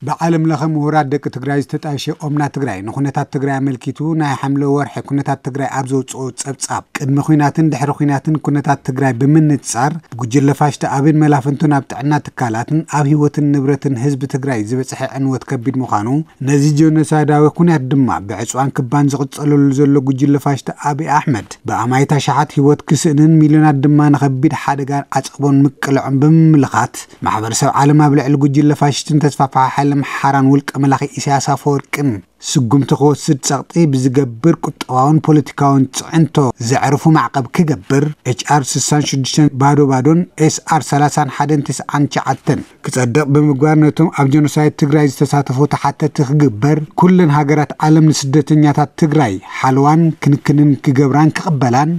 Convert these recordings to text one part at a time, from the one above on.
ብዓለም ለኸ ምሁራት ደቂ ትግራይ ዝተጣየሸ ኦምና ትግራይ ንኩነታት ትግራይ ኣመልኪቱ ናይ ሓምለ ወርሒ ኩነታት ትግራይ ኣብ ዘውፅኦ ፀብፃብ፣ ቅድሚ ኩናትን ድሕሪ ኩናትን ኩነታት ትግራይ ብምንፃር፣ ብጉጅለ ፋሽስት ኣብን መላፍንቱን ኣብ ጥዕና ትካላትን ኣብ ህይወትን ንብረትን ህዝቢ ትግራይ ዝበፅሐ ዕንወት ከቢድ ምዃኑ፣ ነዚ ጀኖሳይዳዊ ኩናት ድማ ብዕፅዋን ክባን ዝቕፀለሉ ዘሎ ጉጅለ ፋሽስት ኣብይ ኣሕመድ፣ ብኣማይት ኣሽሓት ህይወት ክስእንን ሚልዮናት ድማ ንኸቢድ ሓደጋን ዓፀቦን ምቅልዖም ብምምልኻት፣ ማሕበረሰብ ዓለም ኣብ ልዕሊ ጉጅለ ፋሽስትን ተስፋፍሓ ሓይሊ ኣምሓራን ውልቀ መላኺ ኢሳያስ ኣፈወርቅን ስጉምቲ ክወስድ ጸቕጢ ብዝገብር ቁጠባውን ፖለቲካውን ጽዕንቶ ዘዕርፉ ማዕቀብ ክገብር፣ ኤች ኣር ስሳን ሽዱሽተን ባዶ ባዶን ኤስ ኣር ሰላሳን ሓደን ትስዓን ትሽዓተን ክጸድቕ ብምግባር፣ ነቶም ኣብ ጀኖሳይድ ትግራይ ዝተሳተፉ ተሓተቲ ክግበር፣ ኩለን ሃገራት ዓለም ንስደተኛታት ትግራይ ሓልዋን ክንክንን ክገብራን ክቕበላን፣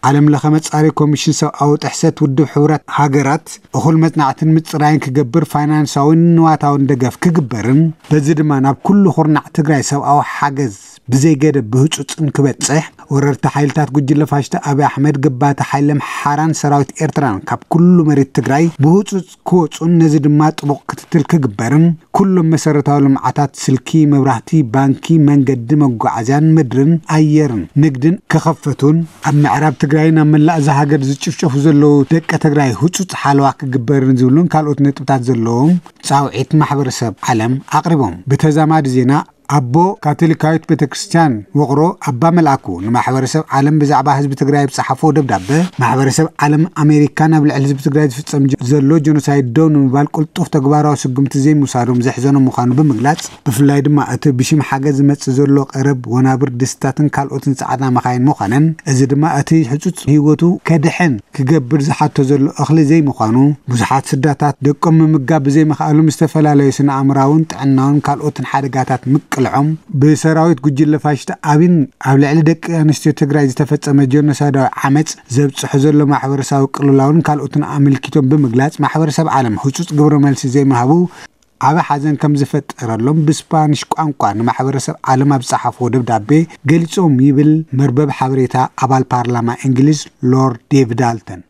ዓለም ለኸ መጻሪ ኮሚሽን ሰብኣዊ ጥሕሰት ውድብ ሕቡራት ሃገራት እኹል መጽናዕትን ምጽራይን ክገብር ፋይናንሳውን ንዋታውን ደገፍ ክግበርን፣ በዚ ድማ ናብ ኩሉ ኩርናዕ ትግራይ ሰብኣዊ ሓገዝ ብዘይገደብ ብህጹጽን ክበጽሕ፣ ወረርቲ ሓይልታት ጉጅለ ፋሽስት ኣብይ ኣሕመድ፣ ገባቲ ሓይሊ ኣምሓራን ሰራዊት ኤርትራን ካብ ኩሉ መሬት ትግራይ ብህጹጽ ክወጹን፣ ነዚ ድማ ጥቡቕ ክትትል ክግበርን፣ ኩሎም መሰረታዊ ልምዓታት ስልኪ፣ መብራህቲ፣ ባንኪ፣ መንገዲ፣ መጓዓዝያን ምድርን ኣየርን ንግድን ክኸፈቱን፣ ኣብ ምዕራብ ትግራይን ኣብ መላእ እዛ ሃገር ዝጭፍጨፉ ዘለዉ ደቂ ትግራይ ህጹጽ ሓለዋ ክግበርን ዝብሉን ካልኦት ነጥብታት ዘለዎም ጻውዒት ማሕበረሰብ ዓለም ኣቕሪቦም። ብተዛማዲ ዜና፣ ኣቦ ካቶሊካዊት ቤተ ክርስቲያን ውቕሮ ኣባ መልኣኩ ንማሕበረሰብ ዓለም ብዛዕባ ህዝቢ ትግራይ ኣብ ዝጸሓፎ ደብዳበ፣ ማሕበረሰብ ዓለም ኣሜሪካ ናብ ልዕሊ ህዝቢ ትግራይ ዝፍጸም ጀ-፣ ዘሎ ጀኖሳይድ ደው ንምባል ቅልጡፍ ተግባራዊ ስጉምቲ ዘይምውሳዶም ዘሕዘኖም ምዃኑ ብምግላጽ፣ ብፍላይ ድማ እቲ ብሽም ሓገዝ ዝመጽእ ዘሎ ቀረብ፣ ወናብር፣ ድስታትን ካልኦትን ጻዕዳ መኻይን ምዃነን፣ እዚ ድማ እቲ ህጹጽ ህይወቱ ከድሕን ክገብር ዝሓቶ ዘሎ እኽሊ ዘይምዃኑ፣ ብዙሓት ስድራታት ደቆም ምምጋብ ብዘይምኽኣሎም ዝተፈላለዩ ስነ ኣእምራውን ጥዕናውን ካልኦትን ሓደጋታት ምቅልዖም፣ ብሰራዊት ጉጅለ ፋሽስት ኣብይን ኣብ ልዕሊ ደቂ ኣንስትዮ ትግራይ ዝተፈጸመ ጀኖሳይዳዊ ዓመፅ ዘብፅሖ ዘሎ ማሕበረሰባዊ ቅልውላውን ካልኦትን ኣመልኪቶም ብምግላፅ፣ ማሕበረሰብ ዓለም ህፁፅ ግብረ መልሲ ዘይምሃቡ ዓቢ ሓዘን ከም ዝፈጠረሎም ብስፓኒሽ ቋንቋ ንማሕበረሰብ ዓለም ኣብ ዝፀሓፍዎ ደብዳቤ ገሊፆም ይብል መርበብ ሓበሬታ ኣባል ፓርላማ እንግሊዝ ሎርድ ዴቪድ ዳልተን።